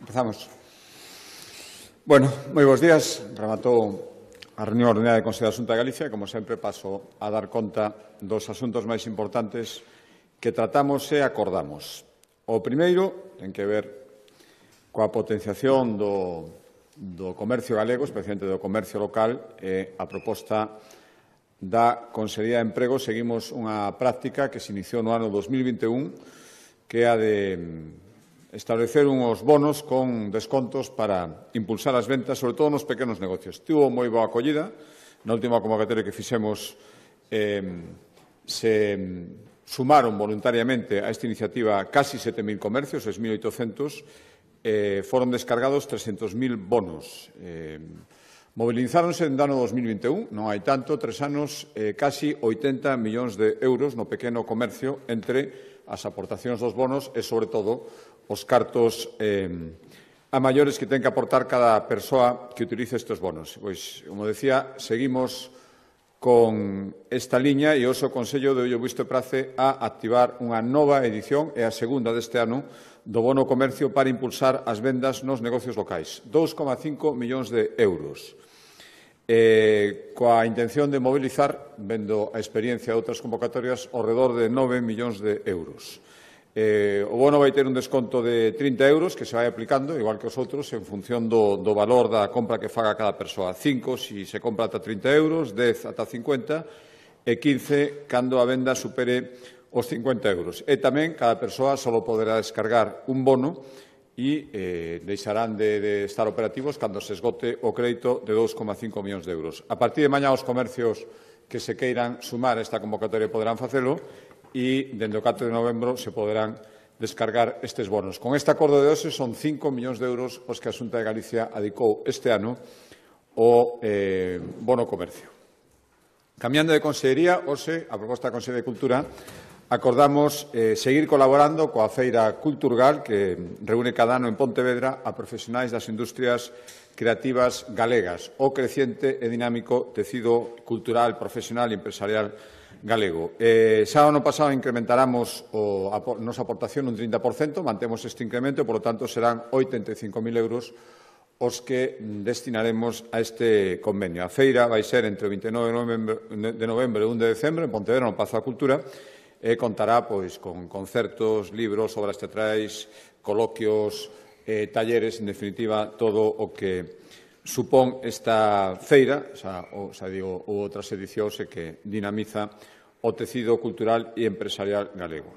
Empezamos. Bueno, moi bons días. Rematou a reunión ordenada de Consello da Xunta de Galicia. Como sempre, paso a dar conta dos asuntos máis importantes que tratamos e acordamos. O primeiro ten que ver coa potenciación do comercio galego, especialmente do comercio local, e a proposta da Consellería de Emprego. Seguimos unha práctica que se iniciou no ano 2021, que é a de establecer uns bonos con descontos para impulsar as ventas, sobre todo nos pequenos negocios. Tivo moi boa acollida. Na última convocatoria que fixemos se sumaron voluntariamente a esta iniciativa casi 7.000 comercios, 6.800, foron descargados 300.000 bonos. Mobilizáronse en ano 2021, non hai tanto, 3 anos, casi 80 millóns de euros no pequeno comercio entre as aportacións dos bonos e, sobre todo, os cartos a maiores que ten que aportar cada persoa que utilice estes bonos. Pois, como decía, seguimos con esta liña e hoxe o Consello de o visto e prace a activar unha nova edición, e a segunda deste ano, do bono comercio para impulsar as vendas nos negocios locais. 2,5 millóns de euros. Coa intención de mobilizar, vendo a experiencia de outras convocatorias, ao redor de 9 millóns de euros. O bono vai ter un desconto de 30 euros que se vai aplicando, igual que os outros, en función do valor da compra que faga cada persoa. 5 se se compra ata 30 euros, 10 ata 50 e 15 cando a venda supere os 50 euros. E tamén cada persoa só poderá descargar un bono e deixarán de estar operativos cando se esgote o crédito de 2,5 millóns de euros. A partir de mañá, os comercios que se queiran sumar a esta convocatoria poderán facelo e, dende o 4 de novembro, se poderán descargar estes bonos. Con este acordo de hoxe son 5 millóns de euros os que a Xunta de Galicia adicou este ano ao bono comercio. Cambiando de consellería, hoxe, a proposta da Consellería de Cultura, acordamos seguir colaborando coa Feira Culturgal, que reúne cada ano en Pontevedra a profesionais das industrias creativas galegas, o creciente e dinámico tecido cultural, profesional e empresarial galego. Xa o ano pasado incrementaramos a nosa aportación un 30%, mantemos este incremento, por lo tanto serán 85.000 euros os que destinaremos a este convenio. A feira vai ser entre o 29 de novembro e 1 de decembro en Pontevedra, no Pazo da Cultura, e contará con concertos, libros, obras teatrais, coloquios, talleres, en definitiva, todo o que supón esta feira, ou outras edicións, que dinamiza o tecido cultural e empresarial galego.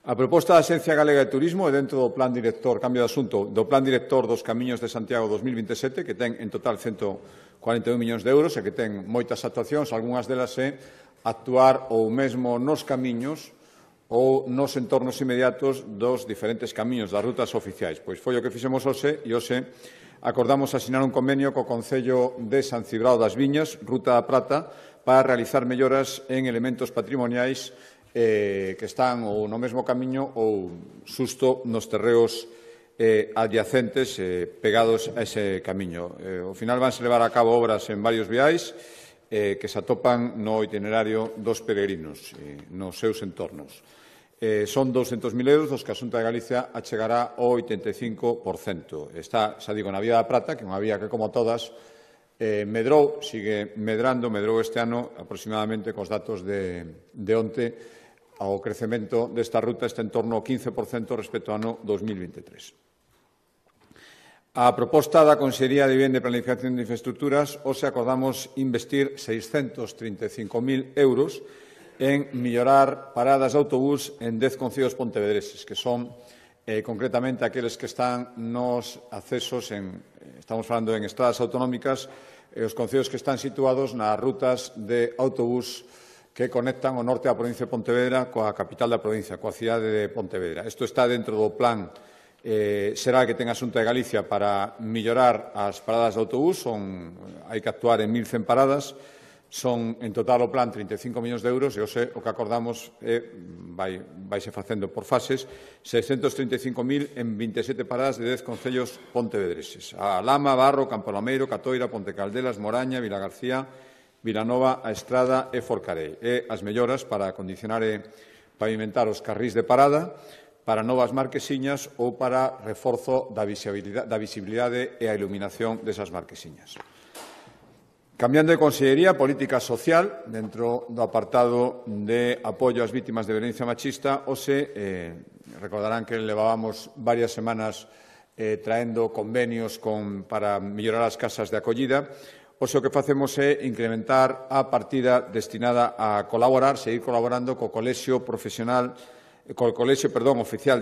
A proposta da Axencia Galega de Turismo é dentro do Plan Director, cambio de asunto, do Plan Director dos Camiños de Santiago 2027, que ten en total 141 millóns de euros e que ten moitas actuacións, algunhas delas actuar ou mesmo nos camiños ou nos entornos inmediatos dos diferentes camiños das rutas oficiais. Pois foi o que fixemos hoxe, e hoxe acordamos asinar un convenio co Concello de San Cibrao das Viñas, Ruta da Prata, para realizar melloras en elementos patrimoniais que están ou no mesmo camiño ou xusto nos terreos adyacentes pegados a ese camiño. Ao final vanse levar a cabo obras en varios viais que se atopan no itinerario dos peregrinos nos seus entornos. Son 200.000 euros dos que a Xunta de Galicia achegará ao 85%. Está, xa digo, na Vía da Prata, que é unha vía que, como todas, medrou, sigue medrando, medrou este ano aproximadamente, cos datos de onte, ao crecemento desta ruta está en torno ao 15% respecto ao ano 2023. A proposta da Consellería de Vivenda e Planificación de Infraestructuras, hoxe acordamos investir 635.000 euros en mellorar paradas de autobús en 10 concellos pontevedreses, que son concretamente aqueles que están nos accesos, estamos falando en estradas autonómicas, os concellos que están situados nas rutas de autobús que conectan o norte da provincia de Pontevedra coa capital da provincia, coa cidade de Pontevedra. Isto está dentro do plan será que ten a Xunta de Galicia para mellorar as paradas de autobús. Hai que actuar en 1.100 paradas. Son, en total, o plan 35 millóns de euros, e hoxe o que acordamos vaise facendo por fases, 635.000 en 27 paradas de 10 concellos pontevedreses. A Lama, Barro, Campolameiro, Catoira, Ponte Caldelas, Moraña, Vilagarcía, Vilanova, A Estrada e Forcarei. E as melloras para acondicionar e pavimentar os carrís de parada, para novas marquesiñas ou para reforzo da visibilidade e a iluminación desas marquesiñas. Cambiando de consellería, política social, dentro do apartado de apoio ás vítimas de violencia machista, recordarán que levábamos varias semanas traendo convenios para mellorar as casas de acollida. O que facemos é incrementar a partida destinada a colaborar, seguir colaborando co Colexio Oficial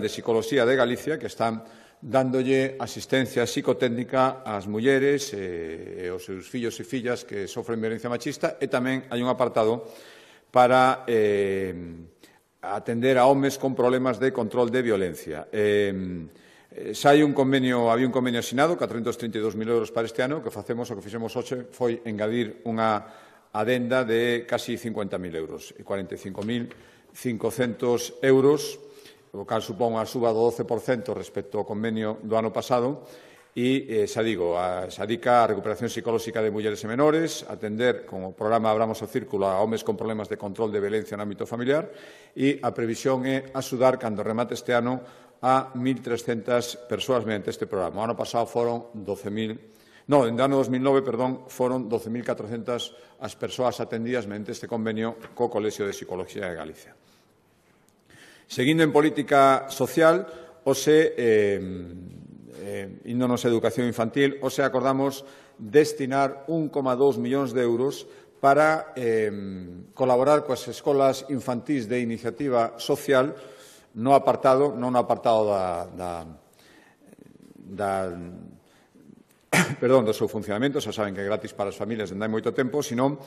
de Psicoloxía de Galicia, que están dándolle asistencia psicotécnica ás mulleres e aos seus fillos e fillas que sofren violencia machista, e tamén hai un apartado para atender a homes con problemas de control de violencia. Había un convenio asinado, 432.000 euros para este ano. O que fixemos hoxe foi engadir unha adenda de casi 50.000 euros, 45.500 euros, o cal supón unha suba do 12% respecto ao convenio do ano pasado, e, se adica a recuperación psicolóxica de mulleres e menores, atender, con o programa Abramos o Círculo, a homes con problemas de control de violencia no ámbito familiar, e a previsión é axudar, cando remate este ano, a 1.300 persoas mediante este programa. O ano pasado foron 12.000. No, en ano 2009, foron 12.400 as persoas atendidas mediante este convenio co Colexio de Psicoloxía de Galicia. Seguindo en política social, índonos a educación infantil, acordamos destinar 1,2 millóns de euros para colaborar coas escolas infantís de iniciativa social non no apartado do seu funcionamento, xa saben que é gratis para as familias dende hai moito tempo, senón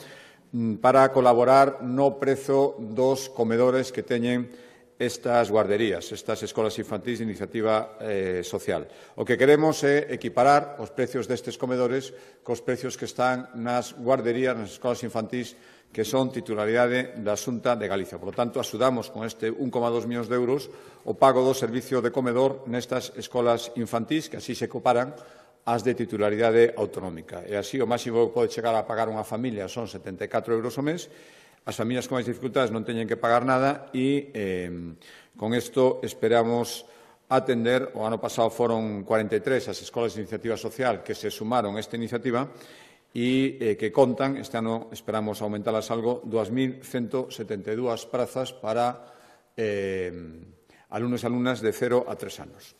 para colaborar no prezo dos comedores que teñen estas guarderías, estas escolas infantís de iniciativa social. O que queremos é equiparar os precios destes comedores cos precios que están nas guarderías, nas escolas infantís, que son titularidade da Xunta de Galicia. Por lo tanto, axudamos con este 1,2 millóns de euros o pago do servicio de comedor nestas escolas infantís, que así se comparan as de titularidade autonómica. E así, o máximo que pode chegar a pagar unha familia son 74 euros ao mes. As familias con máis dificultades non teñen que pagar nada e con isto esperamos atender. O ano pasado foron 43 as escolas de iniciativa social que se sumaron a esta iniciativa e que contan, este ano esperamos aumentalas algo, 2.172 prazas para alumnos e alumnas de 0 a 3 anos.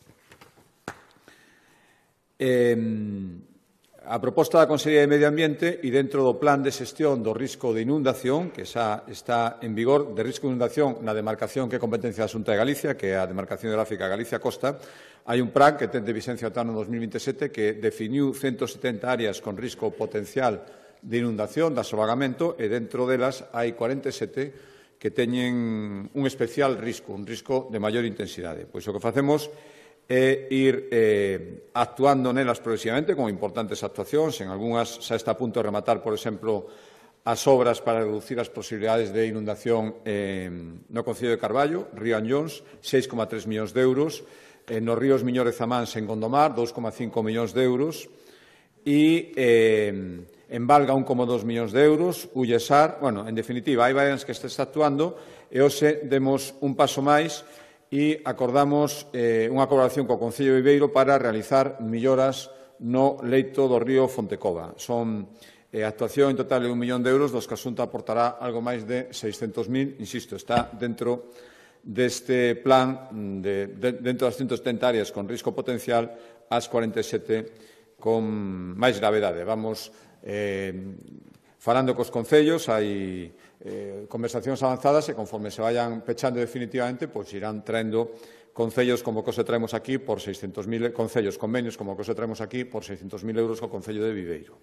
A proposta da Consellería de Medio Ambiente e dentro do plan de xestión do risco de inundación, que xa está en vigor, de risco de inundación na demarcación que é competencia da Xunta de Galicia, que é a demarcación hidrográfica Galicia Costa, hai un plan que ten de vigencia ata o ano 2027 que definiu 170 áreas con risco potencial de inundación, de asovagamento, e dentro delas hai 47 que teñen un especial risco, un risco de maior intensidade. Pois o que facemos é ir actuando nelas progresivamente con importantes actuacións. En algunhas xa está a punto de rematar, por exemplo, as obras para reducir as posibilidades de inundación no Concello de Carballo, Río Anllóns, 6,3 millóns de euros, nos ríos Miñor e Zamáns en Gondomar, 2,5 millóns de euros, e en Valga 1,2 millóns de euros, Ullesar, en definitiva, hai varias que está actuando, e hoxe demos un paso máis e acordamos unha colaboración co Concello de Viveiro para realizar melloras no leito do río Fontecova. Son actuación en total de 1 millón de euros, dos que a Xunta aportará algo máis de 600.000, insisto, está dentro deste plan, dentro das 170 áreas con risco potencial, as 47 con máis gravedade. Vamos falando cos concellos, hai conversacións avanzadas e conforme se vayan pechando definitivamente, pois irán traendo concellos como que os traemos aquí por 600.000, concellos, convenios como que os traemos aquí por 600.000 euros ao Concello de Viveiro.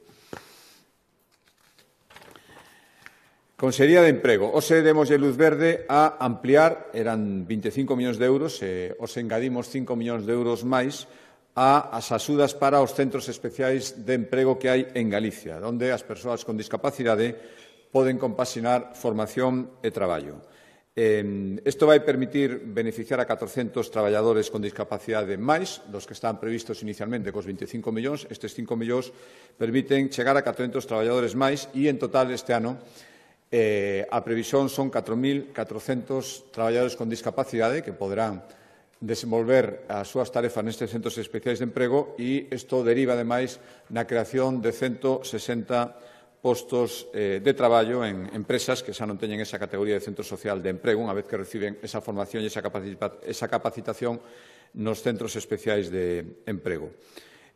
Consellería de Emprego. Hoxe demoslle luz verde a ampliar, eran 25 millóns de euros, e hoxe engadimos 5 millóns de euros máis as axudas para os centros especiais de emprego que hai en Galicia, onde as persoas con discapacidade poden compaxinar formación e traballo. Isto vai permitir beneficiar a 400 traballadores con discapacidade máis, dos que están previstos inicialmente cos 25 millóns. Estes 5 millóns permiten chegar a 400 traballadores máis e, en total, este ano, a previsión son 4.400 traballadores con discapacidade que poderán desenvolver as súas tarefas nestes centros especiais de emprego e isto deriva, ademais, na creación de 160 postos de traballo en empresas que xa non teñen esa categoría de centro social de emprego unha vez que reciben esa formación e esa capacitación nos centros especiais de emprego.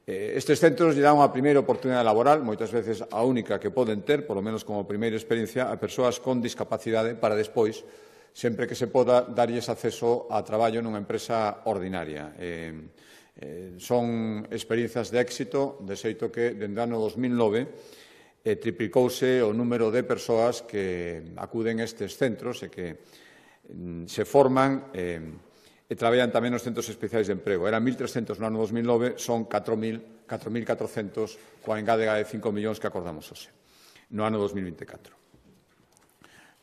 Estes centros lle dan unha primeira oportunidade laboral, moitas veces a única que poden ter, polo menos como primeira experiencia, a persoas con discapacidade para despois, sempre que se poda, darlles acceso a traballo nunha empresa ordinaria. Son experiencias de éxito, de xeito que, dende o ano 2009, triplicouse o número de persoas que acuden a estes centros e que se forman e traballan tamén nos centros especiais de emprego. Eran 1.300 no ano 2009, son 4.400 coa engádega de 5 millóns que acordamos hoxe, no ano 2024.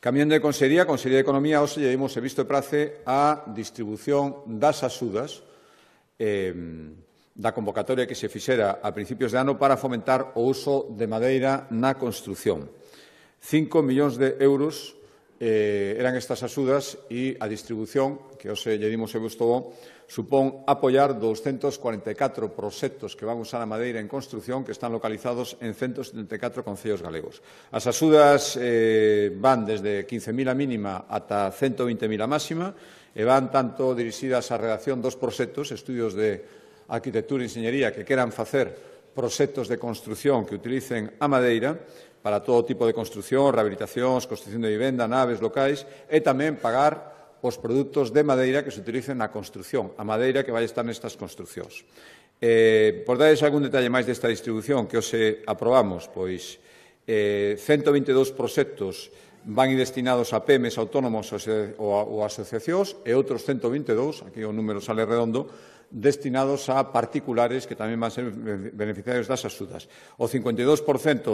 Cambiando de Consellería, a Consellería de Economía, hoxe lle dimos visto e prace a distribución das axudas da convocatoria que se fixera a principios de ano para fomentar o uso de madeira na construción. 5 millóns de euros eran estas axudas e a distribución, que hoxe lle dimos e visto, supón apoiar 244 proxectos que van usar a madeira en construción que están localizados en 174 concellos galegos. As axudas van desde 15.000 a mínima ata 120.000 a máxima e van tanto dirixidas á redacción dos proxectos, estudios de arquitectura e enxeñería que queran facer proxectos de construción que utilicen a madeira para todo tipo de construción, rehabilitacións, construción de vivenda, naves locais e tamén pagar os produtos de madeira que se utilicen na construción, a madeira que vai estar nestas construcións. Por darles algún detalle máis desta distribución que hoxe aprobamos, pois 122 proxectos van destinados a PEMES, autónomos ou asociacións e outros 122, aquí o número sale redondo, destinados a particulares que tamén van ser beneficiarios das axudas. O 52%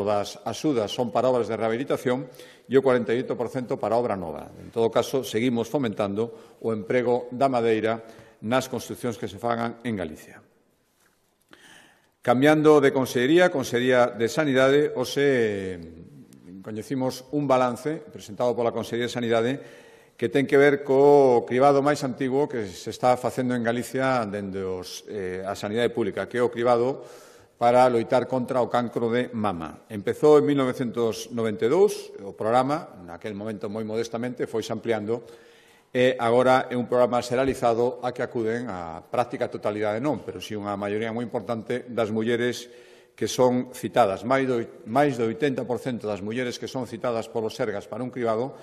das axudas son para obras de rehabilitación e o 48% para obra nova. En todo caso, seguimos fomentando o emprego da madeira nas construcións que se fagan en Galicia. Cambiando de Consellería, Consellería de Sanidade, hoxe coñecimos un balance presentado pola Consellería de Sanidade que ten que ver co cribado máis antigo que se está facendo en Galicia dende a sanidade pública, que é o cribado para loitar contra o cancro de mama. Empezou en 1992, o programa, naquel momento moi modestamente, foi ampliando, e agora é un programa xeralizado a que acuden a práctica totalidade non, pero si unha maioría moi importante das mulleres que son citadas. Máis do 80% das mulleres que son citadas polos Sergas para un cribado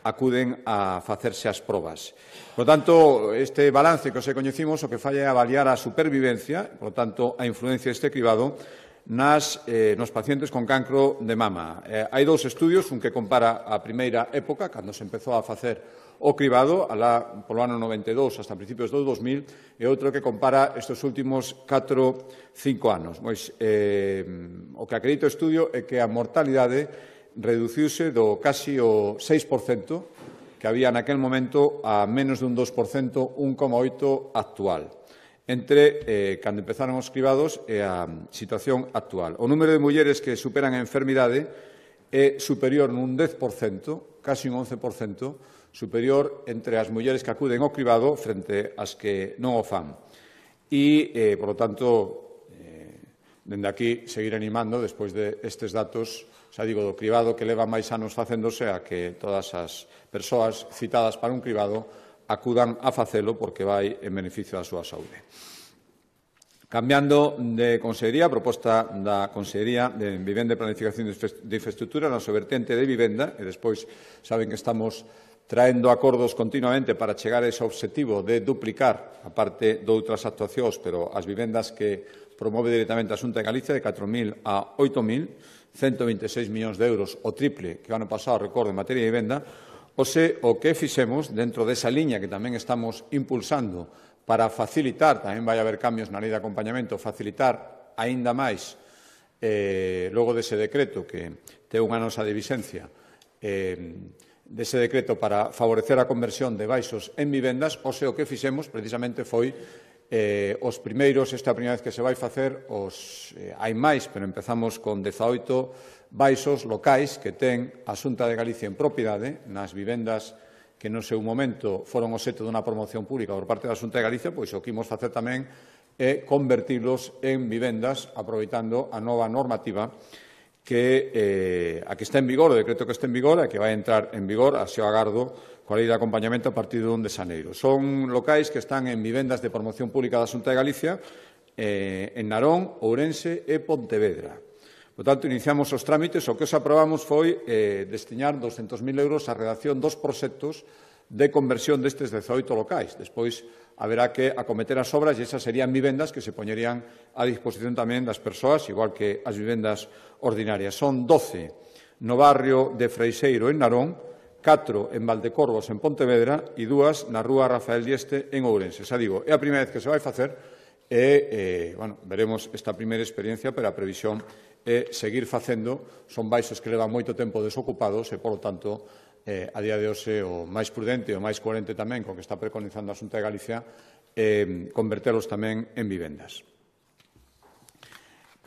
acuden a facerse as probas. Por tanto, este balance que hoxe coñecimos o que fai é avaliar a supervivencia, por tanto, a influencia deste cribado nos pacientes con cancro de mama. Hai dous estudios, un que compara a primeira época, cando se empezou a facer o cribado, polo ano 92 hasta principios do 2000, e outro que compara estes últimos 4-5 anos. Pois, o que acredita o estudio é que a mortalidade reduciuse do casi o 6% que había naquel momento a menos dun 2%, 1,8% actual, entre cando empezaron os cribados e a situación actual. O número de mulleres que superan a enfermidade é superior nun 10%, casi un 11%, superior entre as mulleres que acuden ao cribado frente ás que non o fan. E, por lo tanto, dende aquí, seguir animando, despois destes datos, xa digo, do cribado que leva máis anos facéndose, a que todas as persoas citadas para un cribado acudan a facelo porque vai en beneficio da súa saúde. Cambiando de Consellería, a proposta da Consellería de Vivenda e Planificación de Infraestructura, na vertente de vivenda, e despois saben que estamos traendo acordos continuamente para chegar a ese obxectivo de duplicar, a parte de outras actuacións, pero as vivendas que promove directamente a Xunta de Galicia, de 4.000 a 8.000, 126 millóns de euros, o triple que o ano pasado, recordo, en materia de vivenda, o que fixemos dentro desa liña que tamén estamos impulsando para facilitar, tamén vai haber cambios na lei de acompañamento, facilitar aínda máis, logo dese decreto que ten unha nosa de vixencia, dese decreto para favorecer a conversión de baixos en vivendas, o que fixemos precisamente foi os primeiros, esta é a primeira vez que se vai facer, hai máis, pero empezamos con 18 baixos locais que ten a Xunta de Galicia en propiedade nas vivendas que no seu momento foron obxecto dunha promoción pública por parte da Xunta de Galicia, pois o que imos facer tamén é convertilos en vivendas, aproveitando a nova normativa que está en vigor, o decreto que está en vigor, e que vai entrar en vigor, así o agardo, coa lei de acompañamento a partir do 1 de xaneiro. Son locais que están en vivendas de promoción pública da Xunta de Galicia, en Narón, Ourense e Pontevedra. Por tanto, iniciamos os trámites. O que os aprobamos foi destinar 200.000 euros á redacción dos proxectos de conversión destes 18 locais. Despois, haberá que acometer as obras e esas serían vivendas que se poñerían a disposición tamén das persoas, igual que as vivendas ordinarias. Son 12 no barrio de Freixeiro, en Narón, 4 en Valdecorvos, en Pontevedra, e 2 na rúa Rafael Dieste, en Ourense. Xa digo, é a primeira vez que se vai facer e, veremos esta primeira experiencia, pero a previsión é seguir facendo. Son baixos que levan moito tempo desocupados e, polo tanto, a día de hoxe o máis prudente e o máis coherente tamén co que está preconizando a Xunta de Galicia convertelos tamén en vivendas.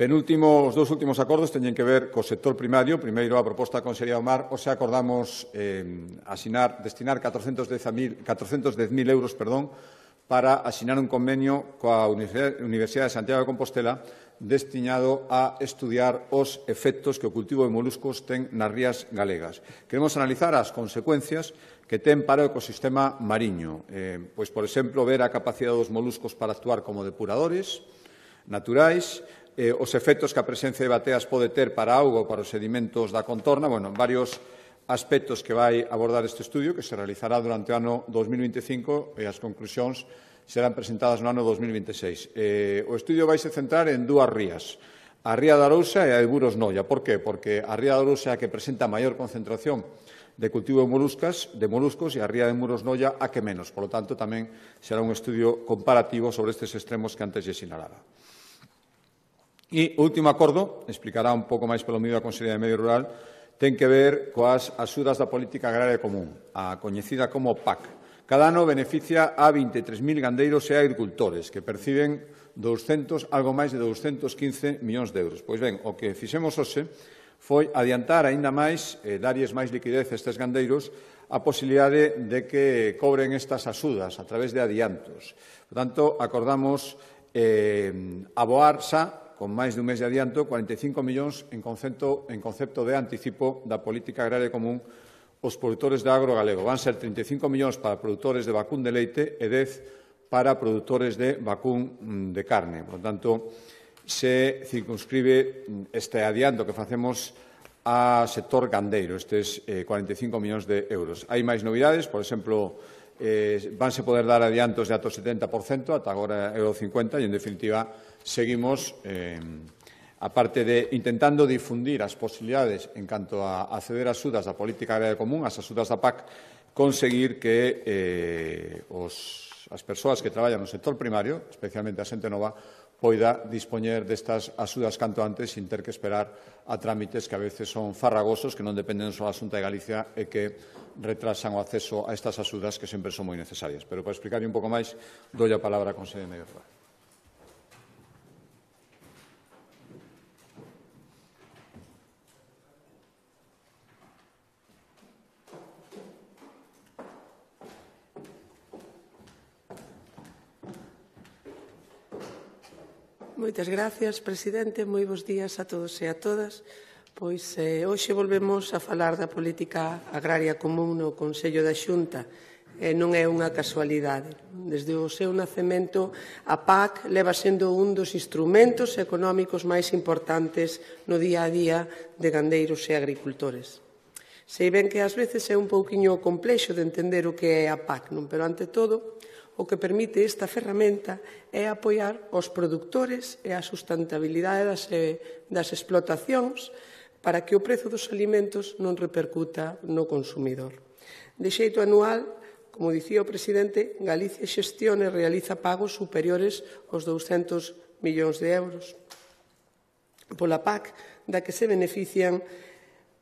Os dous últimos acordos teñen que ver co sector primario. Primeiro, a proposta da Consellería do Mar. Hoxe acordamos destinar 410.000 euros para asinar un convenio coa Universidade de Santiago de Compostela destinado a estudiar os efectos que o cultivo de moluscos ten nas rías galegas. Queremos analizar as consecuencias que ten para o ecosistema mariño. Pois, por exemplo, ver a capacidade dos moluscos para actuar como depuradores naturais, os efectos que a presencia de bateas pode ter para a auga ou para os sedimentos da contorna, varios aspectos que vai abordar este estudio, que se realizará durante o ano 2025 e as conclusións serán presentadas no ano 2026. O estudio vai se centrar en dúas rías, a ría da Arousa e a de Muros Noia. Por qué? Porque a ría da Arousa é a que presenta a maior concentración de cultivo de moluscos e a ría de Muros Noia a que menos. Por lo tanto, tamén será un estudio comparativo sobre estes extremos que antes lle sinalaba. E o último acordo, explicará un pouco máis pelo medio da Consellería de Medio Rural, ten que ver coas axudas da Política Agraria Común, a coñecida como PAC. Cada ano beneficia a 23.000 gandeiros e agricultores que perciben algo máis de 215 millóns de euros. Pois ben, o que fixemos hoxe foi adiantar aínda máis, darlles máis liquidez a estes gandeiros, a posibilidade de que cobren estas axudas a través de adiantos. Por tanto, acordamos aboar xa con máis de un mes de adianto, 45 millóns en concepto de anticipo da Política Agraria Común os produtores de agro galego. Van ser 35 millóns para produtores de vacún de leite e 10 para produtores de vacún de carne. Por tanto, se circunscribe este adianto que facemos a sector gandeiro, estes 45 millóns de euros. Hai máis novidades, por exemplo, vanse poder dar adiantos de ata o 70%, ata agora é o 50%, e, en definitiva, seguimos, aparte de intentando difundir as posibilidades en canto a acceder a axudas da Política Agraria Común, as axudas da PAC, conseguir que as persoas que traballan no sector primario, especialmente a xente nova, poida dispoñer destas axudas canto antes sin ter que esperar a trámites que a veces son farragosos, que non dependen só da Xunta de Galicia e que retrasan o acceso a estas axudas que sempre son moi necesarias. Pero para explicar un pouco máis, dou a palabra á Conselleira de Medio Rural. Moitas gracias, presidente. Moi bons días a todos e a todas. Pois hoxe volvemos a falar da Política Agraria Común no Consello da Xunta. Non é unha casualidade. Desde o seu nacemento, a PAC leva sendo un dos instrumentos económicos máis importantes no día a día de gandeiros e agricultores. Sei ben que ás veces é un pouquiño complexo de entender o que é a PAC, non? Pero, ante todo, o que permite esta ferramenta é apoiar os produtores e a sustentabilidade das explotacións para que o prezo dos alimentos non repercuta no consumidor. De xeito anual, como dicía o presidente, Galicia xestiona e realiza pagos superiores aos 200 millóns de euros pola PAC, da que se benefician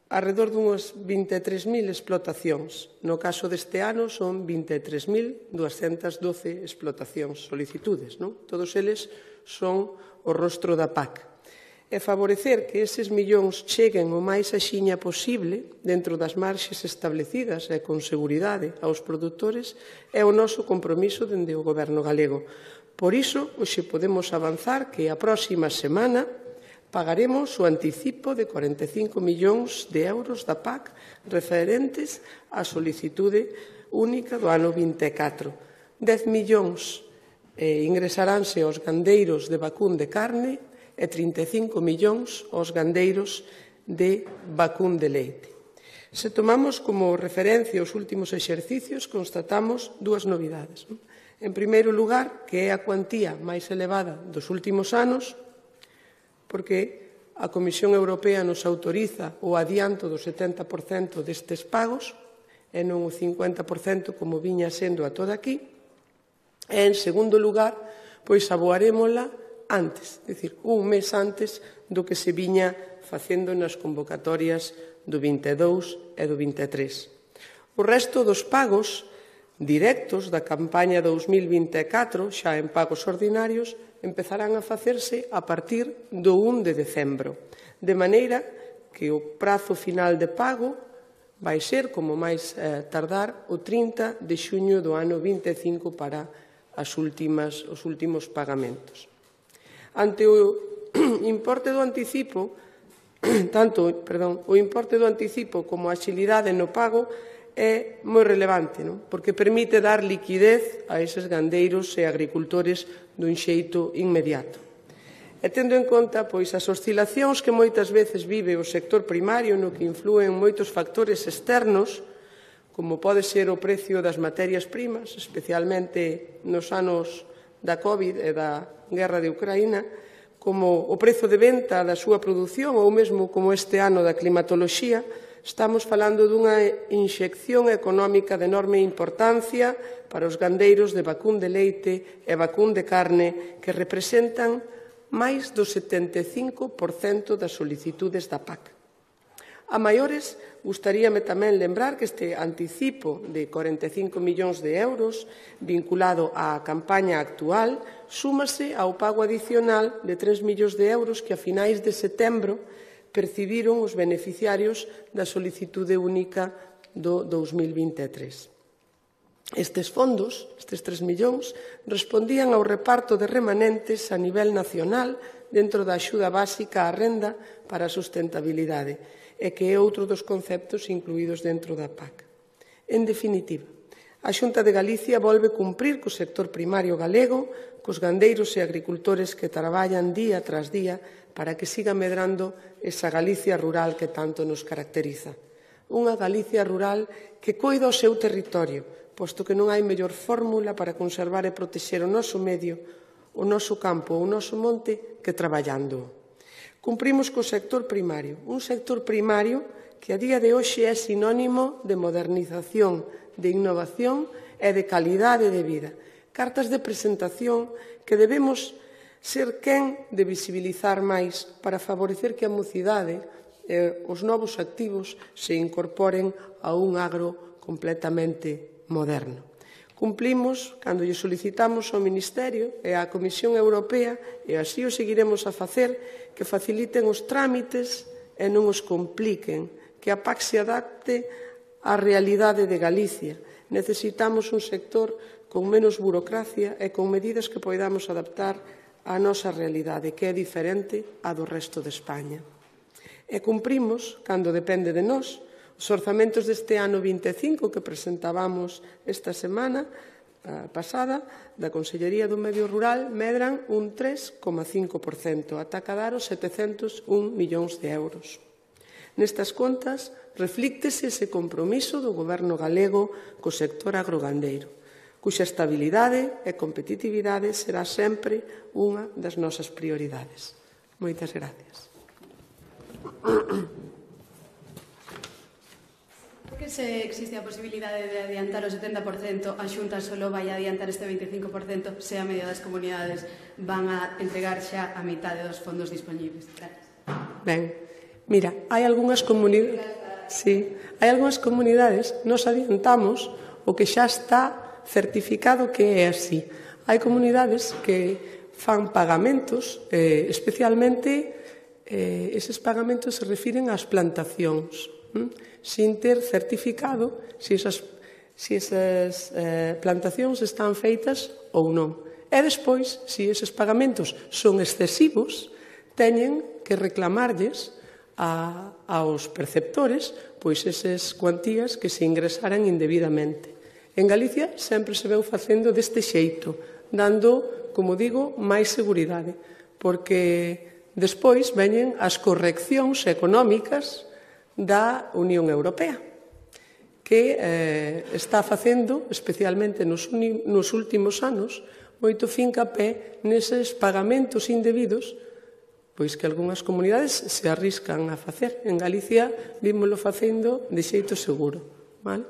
arredor dunhas 23.000 explotacións. No caso deste ano son 23.212 explotacións, solicitudes, non? Todos eles son o rostro da PAC. e favorecer que eses millóns cheguen o máis axiña posible dentro das marxes establecidas e con seguridade aos produtores é o noso compromiso dende o Goberno galego. Por iso, hoxe podemos avanzar que a próxima semana pagaremos o anticipo de 45 millóns de euros da PAC referentes á solicitude única do ano 24. 10 millóns ingresaránse aos gandeiros de vacún de carne e 35 millóns aos gandeiros de vacún de leite. Se tomamos como referencia os últimos exercicios, constatamos dúas novidades. En primeiro lugar, que é a cuantía máis elevada dos últimos anos, porque a Comisión Europea nos autoriza o adianto do 70% destes pagos e non o 50% como viña sendo a toda aquí. E, en segundo lugar, pois aboarémola antes, é dicir, un mes antes do que se viña facendo nas convocatorias do 22 e do 23. O resto dos pagos directos da campaña 2024, xa en pagos ordinarios, empezarán a facerse a partir do 1 de decembro, de maneira que o prazo final de pago vai ser, como máis tardar, o 30 de xuño do ano 25 para os últimos pagamentos. Ante o importe do anticipo, o importe do anticipo como a axilidade no pago é moi relevante, porque permite dar liquidez a eses gandeiros e agricultores dun xeito inmediato. E tendo en conta as oscilacións que moitas veces vive o sector primario no que influen moitos factores externos, como pode ser o precio das materias primas, especialmente nos anos da COVID e da guerra de Ucraína, como o prezo de venta da súa produción ou mesmo como este ano da climatoloxía, estamos falando dunha inxección económica de enorme importancia para os gandeiros de vacún de leite e vacún de carne que representan máis do 75% das solicitudes da PAC. A maiores, gustaríame tamén lembrar que este anticipo de 45 millóns de euros vinculado á campaña actual súmase ao pago adicional de 3 millóns de euros que a finais de setembro percibiron os beneficiarios da solicitude única do 2023. Estes fondos, estes 3 millóns, respondían ao reparto de remanentes a nivel nacional dentro da axuda básica á renda para a sustentabilidade, e que é outro dos conceptos incluídos dentro da PAC. En definitiva, a Xunta de Galicia volve cumprir co sector primario galego, cos gandeiros e agricultores que traballan día tras día para que siga medrando esa Galicia rural que tanto nos caracteriza. Unha Galicia rural que coida o seu territorio, posto que non hai mellor fórmula para conservar e protexer o noso medio, o noso campo ou o noso monte que traballando. Cumprimos co sector primario, un sector primario que a día de hoxe é sinónimo de modernización, de innovación e de calidade de vida. Cartas de presentación que debemos ser quen de visibilizar máis para favorecer que a mocidade e os novos activos se incorporen a un agro completamente moderno. Cumplimos cando lle solicitamos ao Ministerio e á Comisión Europea, e así o seguiremos a facer, que faciliten os trámites e non os compliquen, que a PAC se adapte á realidade de Galicia. Necesitamos un sector con menos burocracia e con medidas que poidamos adaptar á nosa realidade, que é diferente á do resto de España. E cumprimos, cando depende de nós, os orzamentos deste ano 25 que presentábamos esta semana pasada da Consellería do Medio Rural medran un 3,5%, ata cadar os 701 millóns de euros. Nestas contas reflíctese ese compromiso do Goberno galego co sector agrogandeiro, cuxa estabilidade e competitividade será sempre unha das nosas prioridades. Moitas gracias. Por que se existe a posibilidade de adiantar o 70%, a Xunta só vai adiantar este 25%, se a media das comunidades van a entregar xa a mitade dos fondos dispoñibles? Ben, mira, hai algunhas comunidades, nos adiantamos o que xa está certificado que é así. Hai comunidades que fan pagamentos, especialmente eses pagamentos se refiren ás plantacións, sin ter certificado se esas plantacións están feitas ou non. E despois, se eses pagamentos son excesivos, teñen que reclamarlles aos perceptores pois esas cuantías que se ingresaran indebidamente. En Galicia sempre se veu facendo deste xeito, dando, como digo, máis seguridade, porque despois veñen as correccións económicas da Unión Europea, que está facendo, especialmente nos últimos anos, moito fincapé neses pagamentos indebidos pois que algunhas comunidades se arriscan a facer. En Galicia vímoslo facendo de xeito seguro. Vale?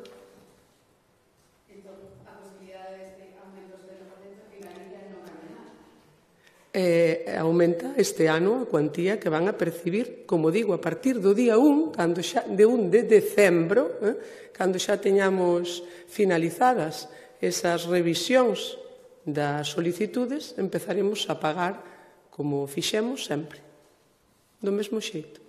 Entón, a posibilidade de aumentos de 1% que Galicia non cambia nada. Aumenta este ano a cuantía que van a percibir, como digo, a partir do día 1, de 1 de decembro, cando xa teñamos finalizadas esas revisións das solicitudes, empezaremos a pagar como fixemos sempre, do mesmo xeito.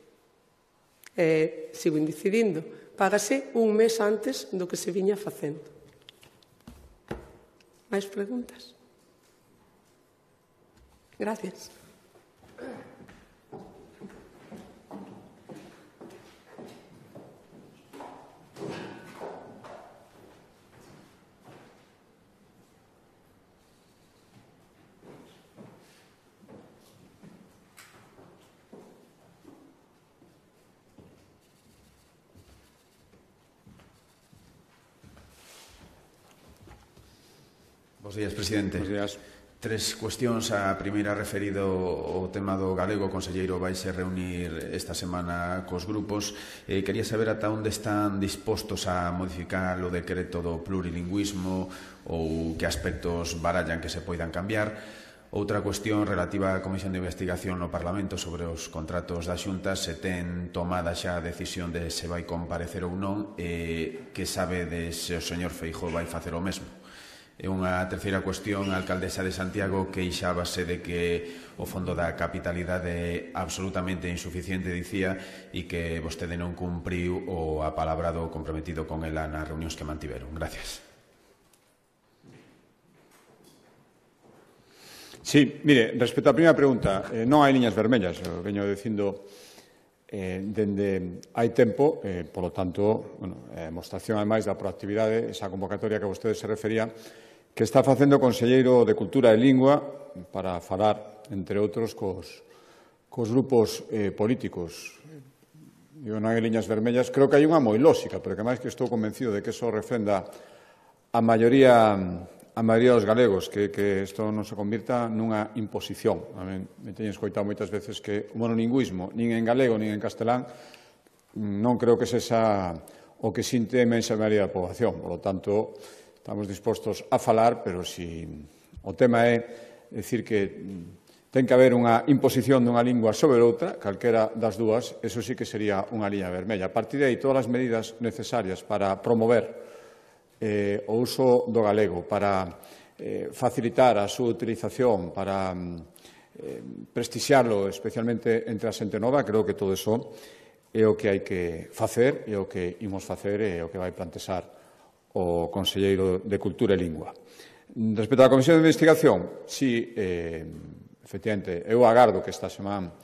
Sigo incidindo, págase un mes antes do que se viña facendo. Mais preguntas? Gracias. Bos días, presidente. Bos días. Tres cuestións. A primeira referido ao tema do galego. O conselleiro vai se reunir esta semana cos grupos. Quería saber ata onde están dispostos a modificar o decreto do plurilingüismo ou que aspectos barallan que se poidan cambiar. Outra cuestión relativa á Comisión de Investigación no Parlamento sobre os contratos da Xunta, se ten tomada xa a decisión de se vai comparecer ou non, que sabe de se o señor Feijóo vai facer o mesmo. E unha terceira cuestión, a alcaldesa de Santiago queixábase de que o fondo da capitalidade é absolutamente insuficiente, dicía, e que vostede non cumpriu o apalabrado comprometido con ela nas reunións que mantiveron. Gracias. Sí, mire, respecto á primeira pregunta, non hai liñas vermellas, eu veño dicindo dende hai tempo, polo tanto, mostración ademais da proactividade, esa convocatoria que vostede se refería, que está facendo o Conselleiro de Cultura e Lingua para falar, entre outros, cos grupos políticos. Non hai liñas vermellas, creo que hai unha moi lóxica, pero que máis que estou convencido de que eso refrenda a maioría dos galegos, que isto non se convirta nunha imposición. Me teño escoitado moitas veces que o monolingüismo, nin en galego, nin en castelán, non creo que sexa o que sinte a inmensa maioría da poboación. Por lo tanto, estamos dispostos a falar, pero se o tema é dicir que ten que haber unha imposición dunha lingua sobre outra, calquera das dúas, eso sí que sería unha liña vermella. A partir de aí, todas as medidas necesarias para promover o uso do galego, para facilitar a súa utilización, para prestixiarlo, especialmente entre a xente nova, creo que todo iso é o que hai que facer, é o que imos facer e é o que vai plantexar o Conselleiro de Cultura e Lingua. Respecto á Comisión de Investigación, sí, efectivamente, eu agardo que esta semana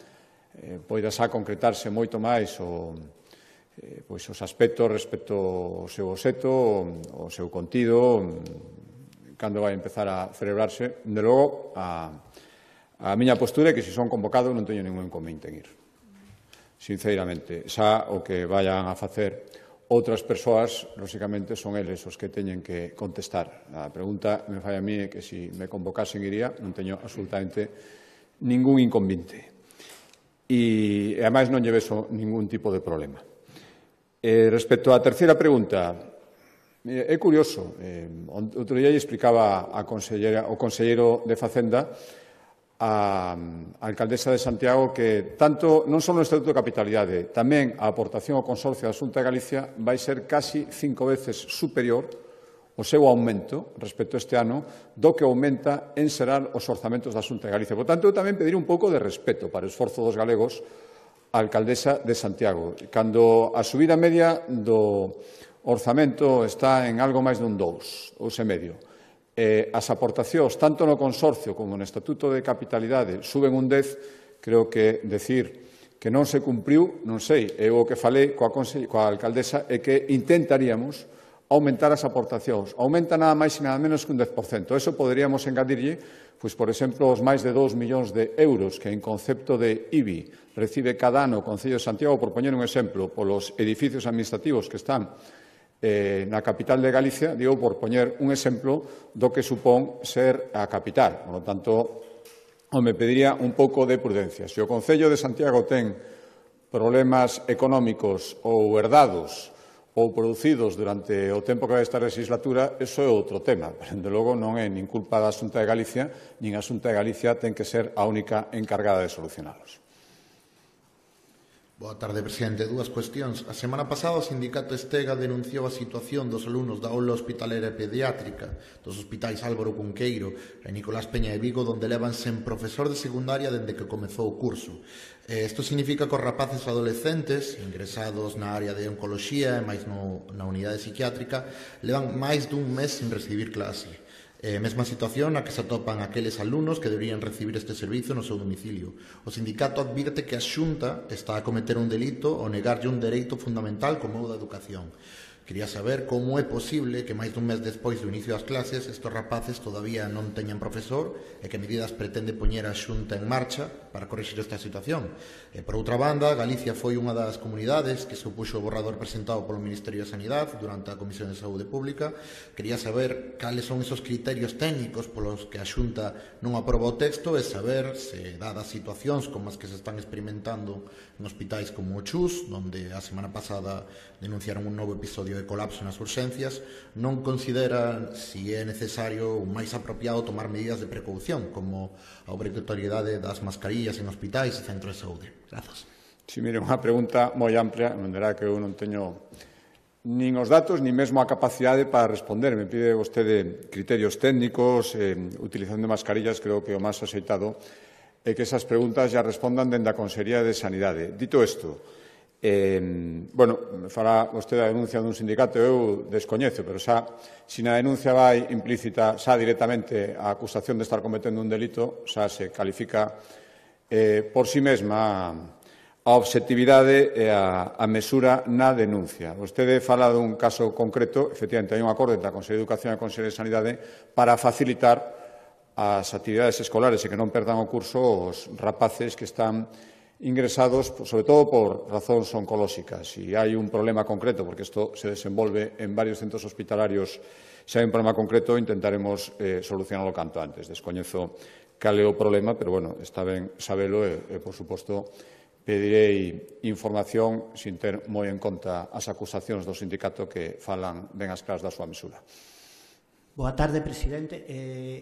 poida xa concretarse moito máis os aspectos respecto ao seu obxecto, ao seu contido, cando vai empezar a celebrarse. De logo, a miña postura é que se son convocados non teño ningún inconveniente en ir. Sinceramente, xa o que vayan a facer outras persoas, lóxicamente, son eles os que teñen que contestar. A pregunta me fai a mí é que se me convocasen iría, non teño absolutamente ningún inconveniente. E, ademais, non lle vexo ningún tipo de problema. Respecto á terceira pregunta, é curioso. Outro día lle explicaba o conselleiro de Facenda a alcaldesa de Santiago que tanto non só no Estatuto de Capitalidade, tamén a aportación ao Consorcio da Xunta de Galicia vai ser casi 5 veces superior o seu aumento respecto a este ano do que aumenta en xeral os orzamentos da Xunta de Galicia. Por tanto, eu tamén pediría un pouco de respeto para o esforzo dos galegos a alcaldesa de Santiago, cando a subida media do orzamento está en algo máis dun 2,5. As aportacións, tanto no consorcio como no Estatuto de Capitalidade, suben un 10, creo que decir que non se cumpriu, non sei, eu o que falei coa alcaldesa é que intentaríamos aumentar as aportacións. Aumenta nada máis e nada menos que un 10%. Eso poderíamos engadirlle, pois, por exemplo, os máis de 2 millóns de euros que en concepto de IBI recibe cada ano o Concello de Santiago, por poñer un exemplo, polos edificios administrativos que están na capital de Galicia, digo, por poñer un exemplo do que supón ser a capital. Por lo tanto, me pediría un pouco de prudencia. Se o Concello de Santiago ten problemas económicos ou herdados ou producidos durante o tempo que vai esta legislatura, iso é outro tema. Pero, de logo, non é nin culpa da Xunta de Galicia, nin a Xunta de Galicia ten que ser a única encargada de solucionalos. Boa tarde, presidente. Dúas cuestións. A semana pasada o sindicato Estega denunciou a situación dos alumnos da aula hospitalera e pediátrica dos hospitais Álvaro Cunqueiro e Nicolás Peña de Vigo, donde levan sen profesor de secundaria dende que comezou o curso. Isto significa que os rapaces adolescentes ingresados na área de oncoloxía e máis na unidade psiquiátrica levan máis dun mes sin recibir clase. Mesma situación na que se atopan aqueles alumnos que deberían recibir este servizo no seu domicilio. O sindicato advirte que a Xunta está a cometer un delito ao negarlle un dereito fundamental como o da educación. Quería saber como é posible que máis dun mes despois do inicio das clases estes rapaces todavía non teñan profesor e que medidas pretende poñer a Xunta en marcha para corrixir esta situación. Por outra banda, Galicia foi unha das comunidades que se opuxo ao borrador presentado polo Ministerio de Sanidade durante a Comisión de Saúde Pública. Quería saber cales son esos criterios técnicos polos que a Xunta non aproba o texto e saber se, dadas situacións como as que se están experimentando en hospitais como o Chus, onde a semana pasada denunciaron un novo episodio de colapso nas urxencias, non consideran si é necesario ou máis apropiado tomar medidas de precaución, como a obrigatoriedade das mascarillas en hospitais e centros de saúde. Grazas. Si, mire, unha pregunta moi amplia, non verá que eu non teño nin os datos, nin mesmo a capacidade para responder. Me pide vostede criterios técnicos, utilización de mascarillas, creo que o máis axeitado é que esas preguntas ya respondan dende a Consellería de Sanidade. Dito isto, me fará vostede a denuncia dun sindicato, eu descoñezo, pero xa, se na denuncia vai implícita xa directamente a acusación de estar cometendo un delito, xa se califica por si mesma a obxectividade e a mesura na denuncia. Vostede fala dun caso concreto, efectivamente, hai un acordo entre a Consellería de Educación e a Consellería de Sanidade para facilitar as actividades escolares e que non perdan o curso os rapaces que están ingresados, sobre todo por razóns oncolóxicas. Si hai un problema concreto, porque isto se desenvolve en varios centros hospitalarios, se hai un problema concreto, intentaremos solucionarlo canto antes. Descoñezo cal é o problema, pero, está ben sabelo e, por suposto, pedirei información sin ter moi en conta as acusacións do sindicato que falan ben as claras da súa mesura. Boa tarde, presidente.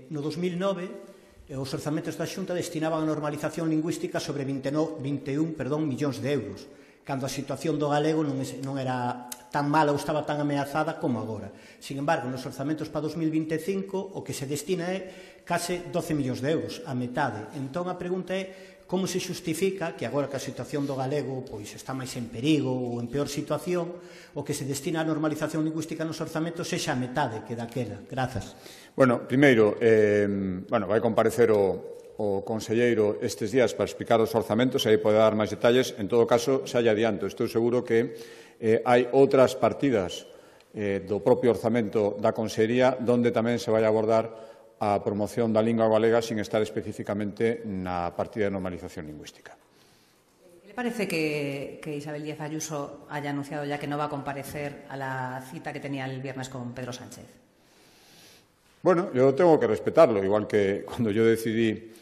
No 2009, os orzamentos da Xunta destinaban a normalización lingüística sobre 21 millóns de euros, cando a situación do galego non era tan mala ou estaba tan ameazada como agora. Sin embargo, nos orzamentos para 2025 o que se destina é case 12 millóns de euros, a metade. Entón, a pregunta é como se xustifica que agora que a situación do galego está máis en perigo ou en peor situación, o que se destina a normalización lingüística nos orzamentos sexa a metade que daquela. Grazas. Primeiro, vai comparecer o conselleiro estes días para explicar os orzamentos e aí pode dar máis detalles. En todo caso, xa lle adianto, estou seguro que hai outras partidas do propio orzamento da Consellería onde tamén se vai abordar a promoción da lingua galega sin estar especificamente na partida de normalización lingüística. ¿Le parece que Isabel Díaz Ayuso haya anunciado ya que no va a comparecer a la cita que tenía el viernes con Pedro Sánchez? Yo tengo que respetarlo, igual que cuando yo decidí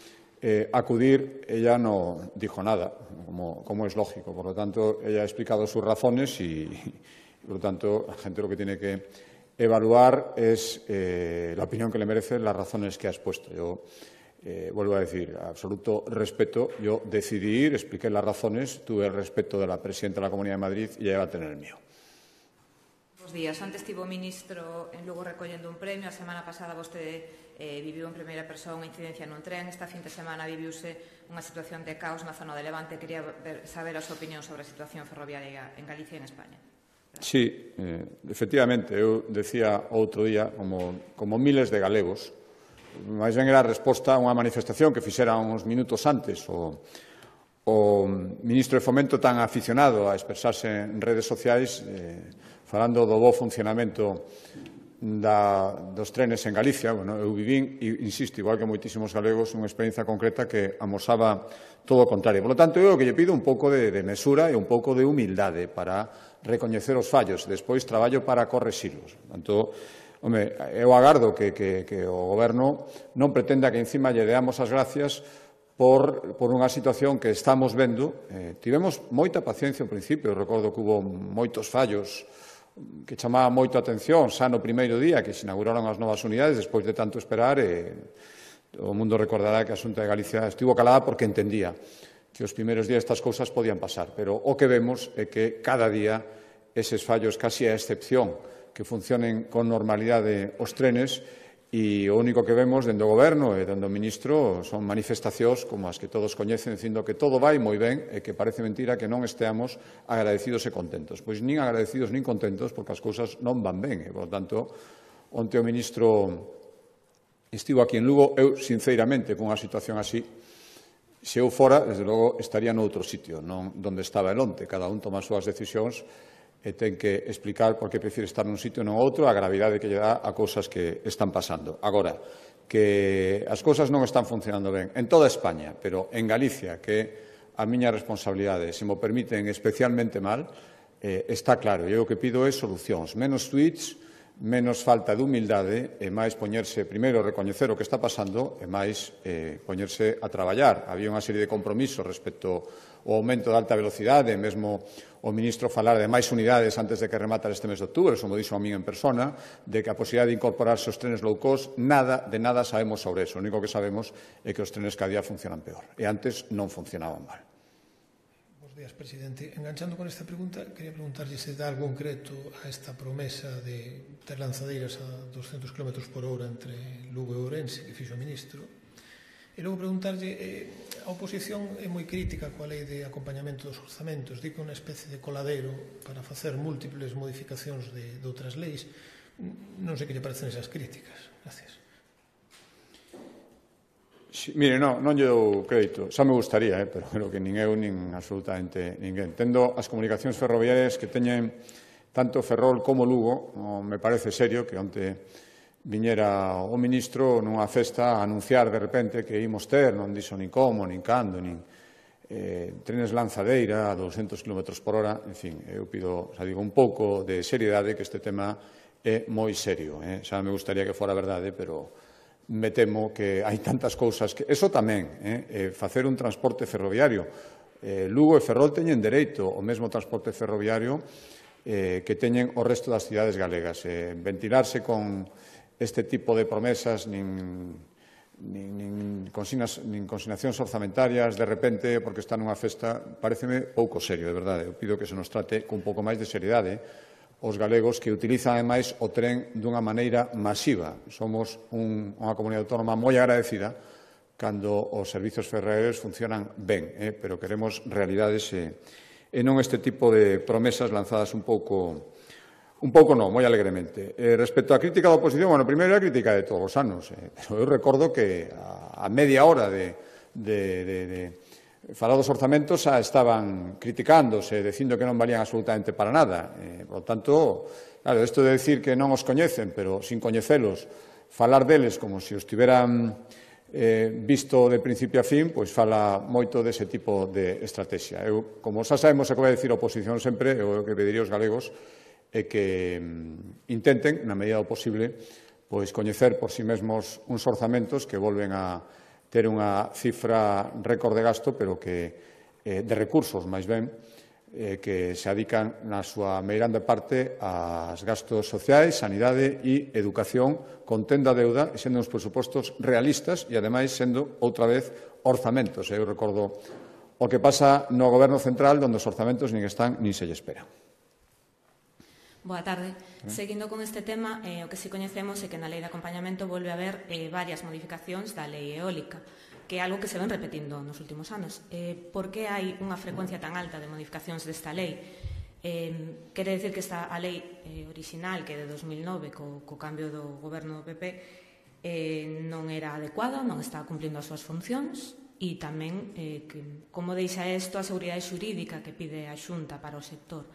acudir, ella no dijo nada, como es lógico. Por lo tanto, ella ha explicado sus razones y por lo tanto, la gente lo que tiene que evaluar es la opinión que le merecen las razones que ha expuesto. Yo vuelvo a decir, absoluto respeto. Yo decidí ir, expliqué las razones, tuve el respeto de la presidenta de la Comunidad de Madrid y ella va a tener el mío. Bos días. Antes estivo o ministro en Lugo recollendo un premio. A semana pasada vostede viviu en primeira persoa unha incidencia nun tren. Esta fin de semana viviuse unha situación de caos na zona de Levante. Quería saber a súa opinión sobre a situación ferroviaria en Galicia e en España. Sí, efectivamente, eu decía outro día, como miles de galegos, máis ben era a resposta a unha manifestación que fixera uns minutos antes o ministro de Fomento tan aficionado a expresarse en redes sociais falando do bo funcionamento dos trenes en Galicia. Bueno, eu vivín, e insisto, igual que moitísimos galegos, unha experiencia concreta que amosaba todo o contrario. Por lo tanto, eu o que lle pido un pouco de mesura e un pouco de humildade para recoñecer os fallos e despois traballo para correxilos. Por tanto, eu agardo que o Goberno non pretenda que encima lle deamos as gracias por unha situación que estamos vendo. Tivemos moita paciencia ao principio, recordo que hubo moitos fallos que chamaba moito a atención xa no primeiro día que se inauguraron as novas unidades, despois de tanto esperar, o mundo recordará que a Xunta de Galicia estivo calada porque entendía que os primeiros días estas cousas podían pasar, pero o que vemos é que cada día eses fallos, casi a excepción, que funcionen con normalidade os trenes, e o único que vemos dende o Goberno e dende o Ministro son manifestacións como as que todos coñecen dicindo que todo vai moi ben e que parece mentira que non esteamos agradecidos e contentos. Pois nin agradecidos nin contentos porque as cousas non van ben. E, por tanto, onte o Ministro estivo aquí en Lugo. Eu, sinceramente, con unha situación así, se eu fora, desde logo, estaría noutro sitio, non onde estaba el onte. Cada un toma as súas decisións e ten que explicar por que prefire estar nun sitio e non outro, a gravidade que lle dá a cousas que están pasando. Agora, que as cousas non están funcionando ben en toda España, pero en Galicia, que a miña responsabilidade, se mo permiten, especialmente mal, está claro. E o que pido é solucións, menos tweets, menos falta de humildade e máis poñerse, primeiro, recoñecer o que está pasando e máis poñerse a traballar. Había unha serie de compromisos respecto ao aumento de alta velocidade, e mesmo o ministro falar de máis unidades antes de que rematara este mes de outubro, eso mo dixo a min en persona, de que a posibilidade de incorporarse os trenes low cost, nada sabemos sobre eso. O único que sabemos é que os trenes cada día funcionan peor, e antes non funcionaban mal. Bos días, presidente. Enganchando con esta pregunta, quería preguntarlle se dá algo concreto a esta promesa de ter lanzadeiras a 200 km por hora entre Lugo e Ourense, que fixo o ministro. E logo preguntarlle, a oposición é moi crítica coa lei de acompañamento dos orzamentos, di que é unha especie de coladeiro para facer múltiples modificacións de outras leis. Non sei que lle parecen esas críticas. Gracias. Sí, mire, non lle dou crédito. Xa me gustaría, pero creo que nin eu nin absolutamente ninguén. Tendo as comunicacións ferroviarias que teñen tanto Ferrol como Lugo, me parece serio que onte viñera o ministro nunha festa a anunciar de repente que imos ter, non dixo nin como, nin cando, nin trenes lanzadeira a 200 km por hora. En fin, eu pido, xa digo, un pouco de seriedade, que este tema é moi serio. Xa me gustaría que fora verdade, pero me temo que hai tantas cousas que... Eso tamén, facer un transporte ferroviario. Lugo e Ferrol teñen dereito ao mesmo transporte ferroviario que teñen o resto das cidades galegas. Ventilarse con este tipo de promesas, nin consignacións orzamentarias de repente porque está nunha festa, pareceme pouco serio, de verdade. Eu pido que se nos trate con un pouco máis de seriedade os galegos, que utilizan ademais o tren dunha maneira masiva. Somos unha comunidade autónoma moi agradecida cando os servizos ferroviarios funcionan ben, pero queremos realidades e non este tipo de promesas lanzadas un pouco non, moi alegremente. Respecto á crítica da oposición, bueno, primeiro a crítica de todos os anos, pero eu recordo que a media hora de falar dos orzamentos xa estaban criticándose, dicindo que non valían absolutamente para nada. Por tanto, claro, isto de decir que non os coñecen, pero sin coñecelos, falar deles como se os tiveran visto de principio a fin, pois fala moito dese tipo de estrategia. Eu, como xa sabemos o que vai dicir a oposición sempre, eu que pediría aos galegos é que intenten, na medida do posible, pois coñecer por si mesmos uns orzamentos que volven a ter unha cifra récord de gasto, pero que de recursos, máis ben, que se adican na súa meirande parte aos gastos sociais, sanidade e educación, contendo a deuda e sendo uns presupostos realistas e, ademais, sendo, outra vez, orzamentos. Eu recordo o que pasa no Goberno Central, onde os orzamentos nin están nin se lle espera. Boa tarde. Seguindo con este tema, o que si coñecemos é que na lei de acompañamento volve a haber varias modificacións da lei eólica, que é algo que se ven repetindo nos últimos anos. Por que hai unha frecuencia tan alta de modificacións desta lei? Quere decir que a lei original, que é de 2009, co cambio do goberno do PP, non era adecuada, non está cumplindo as súas funcións, e tamén como deixa isto a seguridade xurídica que pide a Xunta para o sector.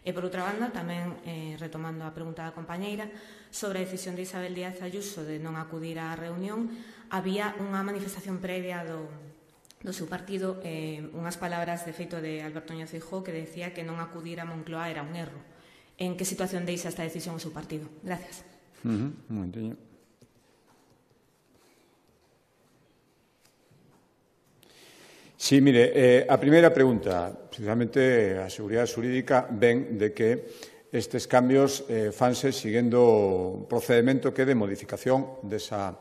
E, por outra banda, tamén, retomando a pregunta da compañeira, sobre a decisión de Isabel Díaz Ayuso de non acudir á reunión, había unha manifestación previa do seu partido, unhas palabras de feito de Alberto Núñez Feijóo que decía que non acudir a Moncloa era un erro. En que situación deixa esta decisión o seu partido? Gracias. Un momentiño. Sí, mire, a primeira pregunta, precisamente a seguridade xurídica ven de que estes cambios fanse seguindo un procedimento que é de modificación desa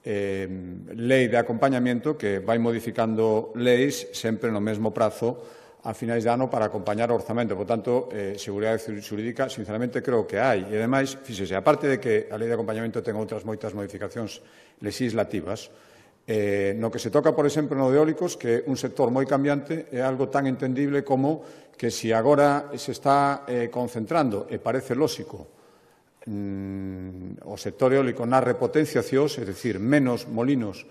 lei de acompañamento que vai modificando leis sempre no mesmo prazo a finais de ano para acompañar o orzamento. Por tanto, seguridade xurídica, sinceramente, creo que hai. E, ademais, fíxese, aparte de que a lei de acompañamento ten outras moitas modificacións legislativas, no que se toca, por exemplo, no de eólicos, que é un sector moi cambiante, é algo tan entendible como que se agora se está concentrando, e parece lóxico, o sector eólico nas repotenciacións, é dicir, menos molinos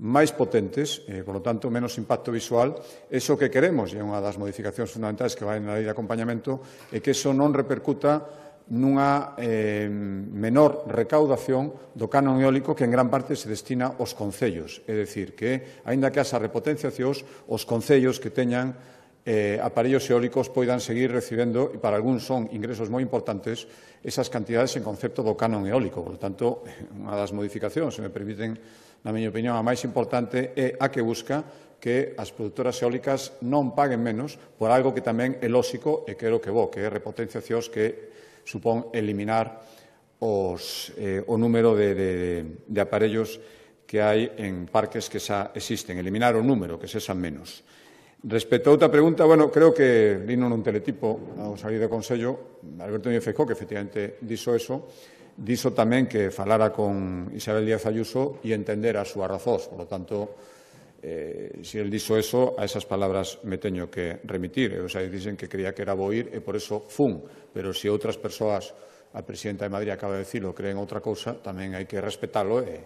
máis potentes, por lo tanto, menos impacto visual, iso que queremos, e é unha das modificacións fundamentais que vai na lei de acompañamento, é que iso non repercuta nunha menor recaudación do canon eólico que en gran parte se destina aos concellos. É dicir, que, aínda que as repotenciacións, os concellos que teñan aparellos eólicos poidan seguir recibendo, e para algúns son ingresos moi importantes, esas cantidades en concepto do canon eólico. Por tanto, unha das modificacións, se me permiten, na miña opinión, a máis importante é a que busca que as produtoras eólicas non paguen menos por algo que tamén é lóxico e que é o que é repotenciacións que supón eliminar o número de aparellos que hai en parques que xa existen, eliminar o número, que sexan menos. Respecto a outra pregunta, bueno, creo que lino nun teletipo ao salir do Consello, Alberto Núñez Feijóo, que efectivamente dixo tamén que falara con Isabel Díaz Ayuso e entender as súas razóns. Por lo tanto, se el dixo eso, a esas palabras me teño que remitir. Eu xa dixen que creía que era bo ir e por eso fun. Pero se outras persoas, a presidenta de Madrid acaba de dicilo, creen outra cousa, tamén hai que respetalo e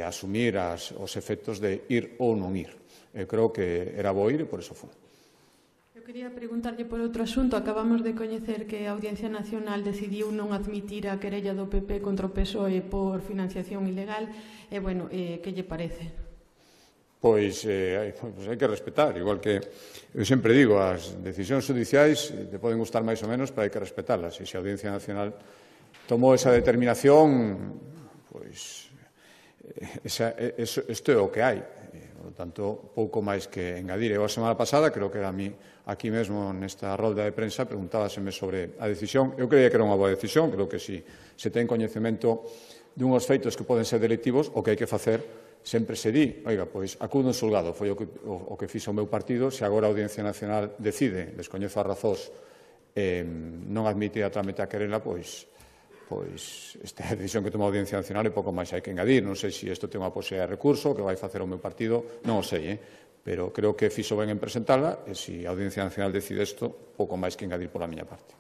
asumir os efectos de ir ou non ir. Eu creo que era bo ir e por eso fun. Eu quería preguntarlle por outro asunto. Acabamos de coñecer que a Audiencia Nacional decidiu non admitir a querella do PP contra o PSOE por financiación ilegal. E, bueno, que lle parece? Pois hai que respetar, igual que eu sempre digo, as decisións judiciais te poden gustar máis ou menos, pero hai que respetalas. E se a Audiencia Nacional tomou esa determinación, pois isto é o que hai. Por lo tanto, pouco máis que engadir. Eu a semana pasada, creo que era a mí, aquí mesmo nesta rolda de prensa, preguntábaseme sobre a decisión. Eu creía que era unha boa decisión, creo que si se ten coñecemento dunhos feitos que poden ser delictivos, o que hai que facer sempre se di, oiga, pois acudo en xulgado, foi o que fixo o meu partido, se agora a Audiencia Nacional decide, descoñezo as razóns, non admite a trámite a querela, pois esta é a decisión que toma a Audiencia Nacional e pouco máis hai que engadir. Non sei se isto ten unha posibilidade de recurso, que vai facer o meu partido, non o sei, pero creo que fixo ben en presentala e se a Audiencia Nacional decide isto, pouco máis que engadir pola miña parte.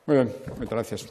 Moi ben, moitas gracias.